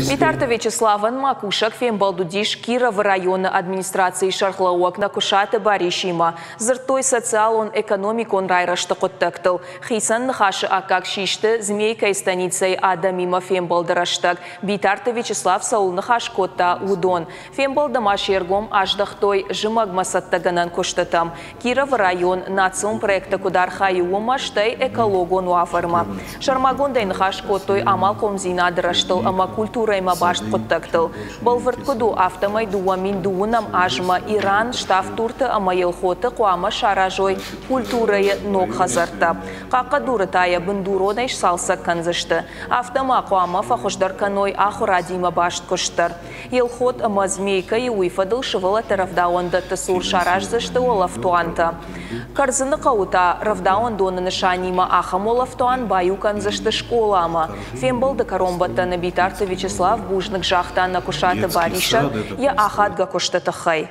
Битарты Вячеславӕн ма кусӕг фембӕлд уыдис Кировы районы администрацийы сӕргълӕууӕг Нӕкуысаты Барисимӕ. Дзырдтой социалон-экономикон райрӕзты хъуыддӕгтыл. Хицӕн ныхасы аккаг систы Змейкӕйы станицӕйы адӕмимӕ фембӕлды рӕстӕг Битарты Вячеслав цӕуыл ныхас кодта, уыдон. Фембӕлды ма се ргом аздӕхтой зымӕгмӕ цӕттӕгӕнӕн куыстытӕм. Кировы район национ проекты куыд архайы, уымӕ, стӕй экологон уавӕрмӕ. Сӕрмагондӕй ныхас кодтой амалхъомдзинады рӕзтыл ӕмӕ культурӕимӕ баст хъуыддӕгтыл. Бӕлвырд куыд у, афтӕмӕй 2009 азмӕ Иран, Ставд-Дурты ӕмӕ Елхоты хъуамӕ саразой культурӕйы ног хӕдзӕрттӕ. Хъахъхъӕдуры та йӕ бындуронӕй сцалцӕг кӕндзысты. Афтӕ ма хъуамӕ фӕхуыздӕр кӕной ахуырадимӕ баст куыст дӕр. Елхот ӕмӕ Змейкӕйы уый фӕдыл сывӕллӕтты рӕвдауӕндӕтты цур сараздзысты уӕлӕфтуантӕ. Кӕрдзыны хъӕуы та рӕвдауӕндоны нысанимӕ ахӕм уӕлӕфтуан баиу кӕндзысты скъоламӕ. Фембӕлды кӕронбӕттӕны Битарты Вячеслав бузныг загъта Нӕкуысаты Барисӕн йӕ ахадгӕ куысты тыххӕй.